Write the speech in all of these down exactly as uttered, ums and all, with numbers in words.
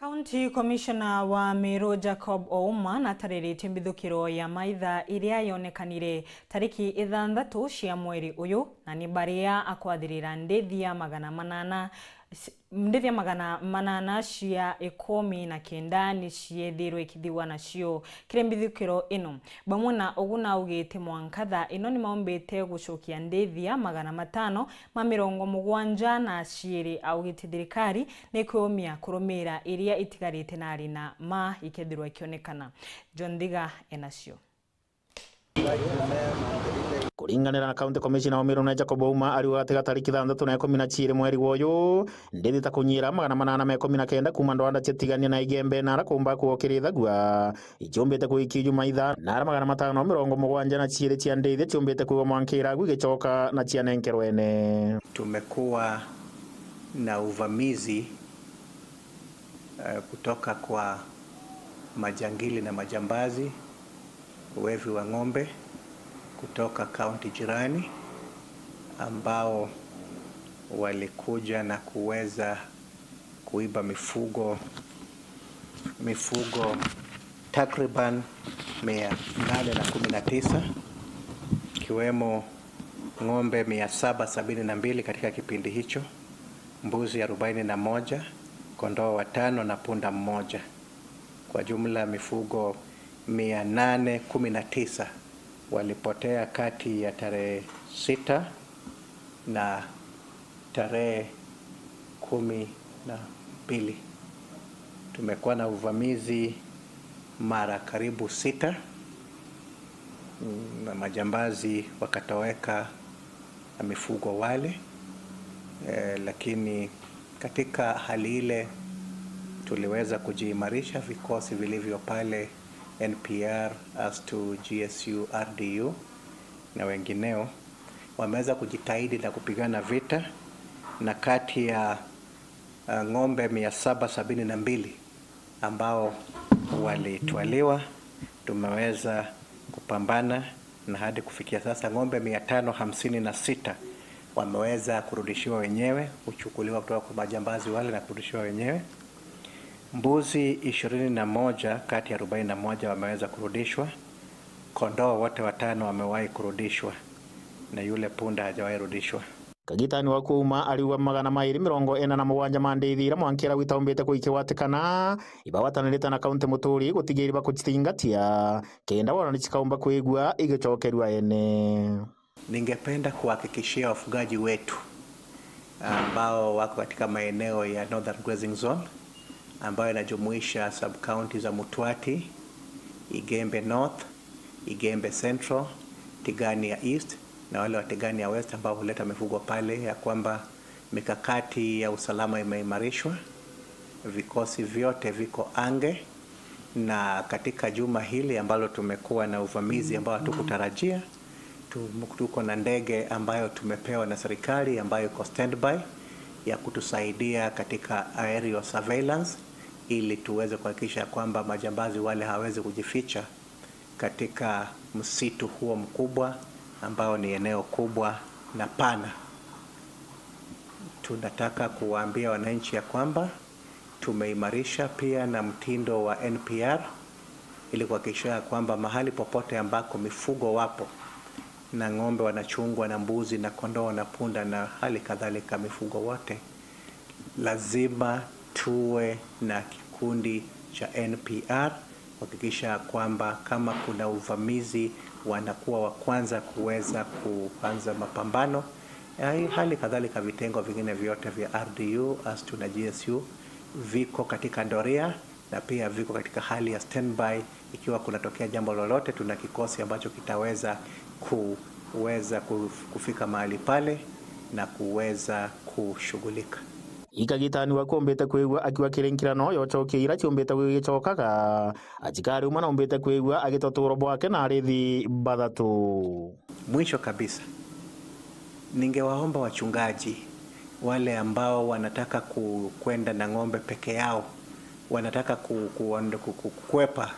County Commissioner wa Meru Jacob Ouma natariritie mbithukiro ya maitha iria yonekanire tariki ithanthatu cia mweri uyu, na ni baria akwathirira ndithia magana manana, ndithia magana manana cia ikumi na kenda ni ciethirwe ikithigwa nacio kiri mbithukiro ino, bamwe na ugu naugite mwanka thaa ino ni maumbite gucokia ndithia magana matano ma mirongo mugwanja na ciiri, augite thirikari ni kwiumia kurumira iria itigarite na ari na ma ikethirwa ikionekana. John Thiga enacio. Kuringanira na County Commissioner wa Meru na Jacob Ouma, ariuga gati ga tariki thanthatu na ikumi na ciiri mweri wa uyu, ndithi ta kunyira magana manana ma ikumi na kenda kuuma ndwanda ciatigania na Igembe na ara kuumba kuokirithagua, ichiumbite kwikia juma itha, na ara magana matano mirongo mugwanja na ciiri cia ndithi chiumbite kwigwa mwankira agu igicoka na cianenkerwa ene. Tumekuwa na uvamizi, eh, kutoka kwa majangili na majambazi, wevi wa ng'ombe kutoka kaunti jirani, ambao walikuja na kuweza kuiba mifugo, mifugo takriban mia nane na kumi na tisa, ikiwemo ng'ombe mia saba sabini na mbili katika kipindi hicho, mbuzi arobaini na moja, kondoo watano na punda mmoja. Kwa jumla mifugo mia nane kumi na tisa walipotea kati ya tarehe sita na tarehe kumi na mbili. Tumekuwa na uvamizi mara karibu sita, mm, na majambazi wakatoweka na mifugo wale. Eh, lakini katika hali ile tuliweza kujiimarisha, vikosi vilivyo pale, N P R, ASTU, G S U, R D U na wengineo wameweza kujitahidi na kupigana vita, na kati ya, uh, ng'ombe mia saba sabini na mbili ambao walitwaliwa, tumeweza kupambana, na hadi kufikia sasa ng'ombe mia tano hamsini na sita wameweza kurudishiwa wenyewe, kuchukuliwa kutoka kwa majambazi wale na kurudishiwa wenyewe. Mbuzi ishirini na moja kati ya arobaini na moja wameweza kurudishwa. Kondoo wote watano wamewahi kurudishwa, na yule punda hajawahi rudishwa. Kagitani wa kuuma ariuga magana mairi mirongo ina na mugwanja ma ndithi iria mwankira gwitaumbite kuikigwatikana, ibagwatanirite na kaunti muturi gutigira bakucitingatia, kenda wona ni cikaumba kwigua igicokerua ene. Ningependa kuhakikishia wafugaji wetu ambao wako katika maeneo ya Northern Grazing Zone, ambayo inajumuisha sub-county za Mutwati, Igembe North, Igembe Central, Tigania East na wale wa Tigania West ambao huleta mifugo pale, ya kwamba mikakati ya usalama imeimarishwa, vikosi vyote viko ange, na katika juma hili ambalo tumekuwa na uvamizi ambao hatukutarajia, tu-, tuko na ndege ambayo tumepewa na serikali ambayo iko standby ya kutusaidia katika aerial surveillance, ili tuweze kuhakikisha kwamba majambazi wale hawawezi kujificha katika msitu huo mkubwa ambao ni eneo kubwa na pana. Tunataka kuwaambia wananchi ya kwamba tumeimarisha pia na mtindo wa N P R ili kuhakikisha ya kwamba mahali popote ambako mifugo wapo na ng'ombe wanachungwa na mbuzi na kondoo na punda na hali kadhalika mifugo wote, lazima tuwe na kikundi cha N P R kuhakikisha kwamba kama kuna uvamizi, wanakuwa wa kwanza kuweza kuanza mapambano. Eh, hali kadhalika vitengo vingine vyote vya R D U, ASTU na G S U viko katika doria na pia viko katika hali ya standby. Ikiwa kunatokea jambo lolote, tuna kikosi ambacho kitaweza kuweza kuf-, kufika mahali pale na kuweza kushughulika. Ikagitani wakumbite kwigua akiwa kiri nkirano yochokia ira ciumbite gwigicokaga, achikari umwe naumbite kwigua agitoturo bwake na arithi bathatu. Mwisho kabisa, ningewaomba wachungaji wale ambao wanataka ku-, kwenda na ng'ombe peke yao, wanataka ku-, ku-, ku-, ku-, kukwepa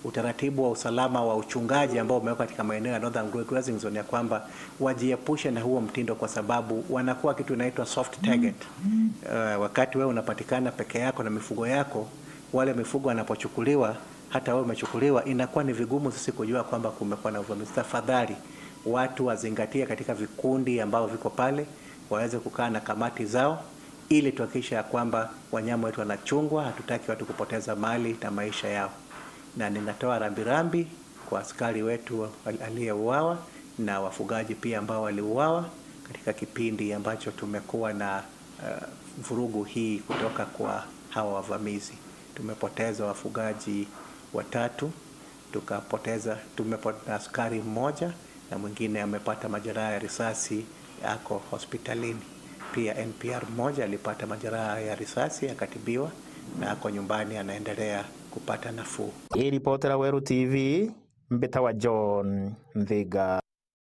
utaratibu wa usalama wa uchungaji ambao umewekwa katika maeneo ya Northern Grazing Zone, ya kwamba wajiepushe na huo mtindo, kwa sababu wanakuwa kitu inaitwa soft target. Eh, wakati wewe unapatikana peke yako na mifugo yako, wale mifugo wanapochukuliwa, hata wewe umechukuliwa, inakuwa ni vigumu sisi kujua kwamba kumekuwa na uvamizi. Tafadhali, watu wazingatie katika vikundi ambao viko pale, waweze kukaa na kamati zao ili tuhakikisha ya kwamba wanyama wetu wanachungwa. Hatutaki watu kupoteza mali na maisha yao, na ninatoa rambirambi kwa askari wetu al-, aliyeuawa na wafugaji pia ambao waliuawa katika kipindi ambacho tumekuwa na, eh, vurugu hii kutoka kwa hawa wavamizi. Tumepoteza wafugaji watatu, tukapoteza, tumepoteza askari mmoja, na mwingine amepata majeraha ya risasi, ako hospitalini. Pia N P R mmoja alipata majeraha ya risasi, akatibiwa na ako nyumbani, anaendelea kupata nafuu. Iripotera Weru T V, mbitawa John Nthiga.